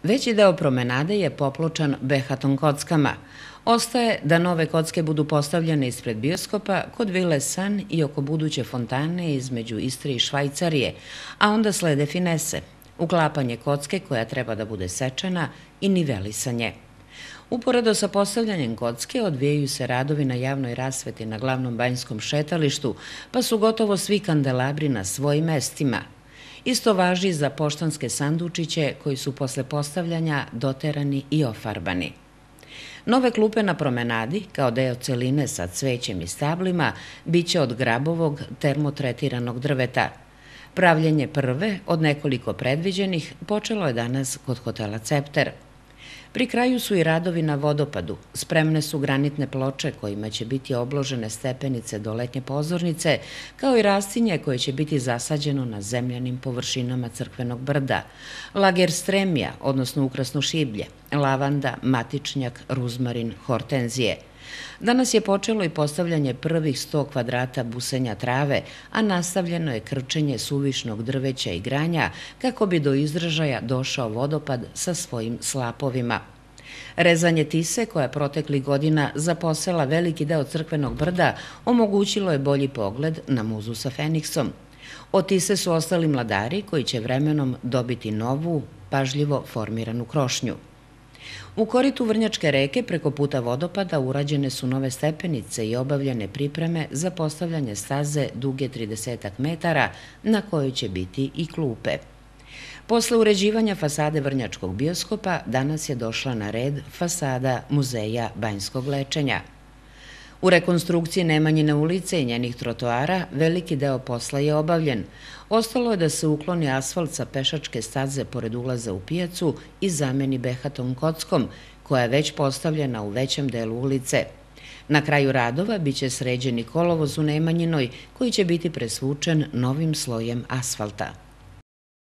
Veći deo promenade je popločan behaton kockama. Ostaje da nove kocke budu postavljene ispred bioskopa, kod Vile San i oko buduće fontane između Istre i Švajcarije, a onda slede finese, uklapanje kocke koja treba da bude sečena i nivelisanje. Uporedo sa postavljanjem kocke odvijaju se radovi na javnoj rasveti na glavnom banjskom šetalištu, pa su gotovo svi kandelabri na svojim mestima. Isto važi za poštanske sandučiće koji su posle postavljanja doterani i ofarbani. Nove klupe na promenadi, kao deo celine sa cvećem i stablima, biće od grabovog termotretiranog drveta. Pravljenje prve od nekoliko predviđenih počelo je danas kod hotela Cepter. Pri kraju su i radovi na vodopadu. Spremne su granitne ploče kojima će biti obložene stepenice do letnje pozornice, kao i rastinje koje će biti zasađeno na zemljanim površinama crkvenog brda, lagerstremija, odnosno ukrasno šiblje, lavanda, matičnjak, ruzmarin, hortenzije. Danas je počelo i postavljanje prvih 100 kvadrata busenja trave, a nastavljeno je krčenje suvišnog drveća i granja kako bi do izražaja došao vodopad sa svojim slapovima. Rezanje tise, koja proteklih godina zaposela veliki deo crkvenog brda, omogućilo je bolji pogled na muzu sa Feniksom. Od tise su ostali mladari koji će vremenom dobiti novu, pažljivo formiranu krošnju. U koritu Vrnjačke reke preko puta vodopada urađene su nove stepenice i obavljene pripreme za postavljanje staze duge 30 metara na kojoj će biti i klupe. Posle uređivanja fasade Vrnjačkog bioskopa danas je došla na red fasada Muzeja banjskog lečenja. U rekonstrukciji Nemanjine ulice i njenih trotoara veliki deo posla je obavljen. Ostalo je da se ukloni asfalt sa pešačke staze pored ulaza u pijacu i zameni behaton kockom, koja je već postavljena u većem delu ulice. Na kraju radova biće sređeni kolovoz u Nemanjinoj, koji će biti presvučen novim slojem asfalta.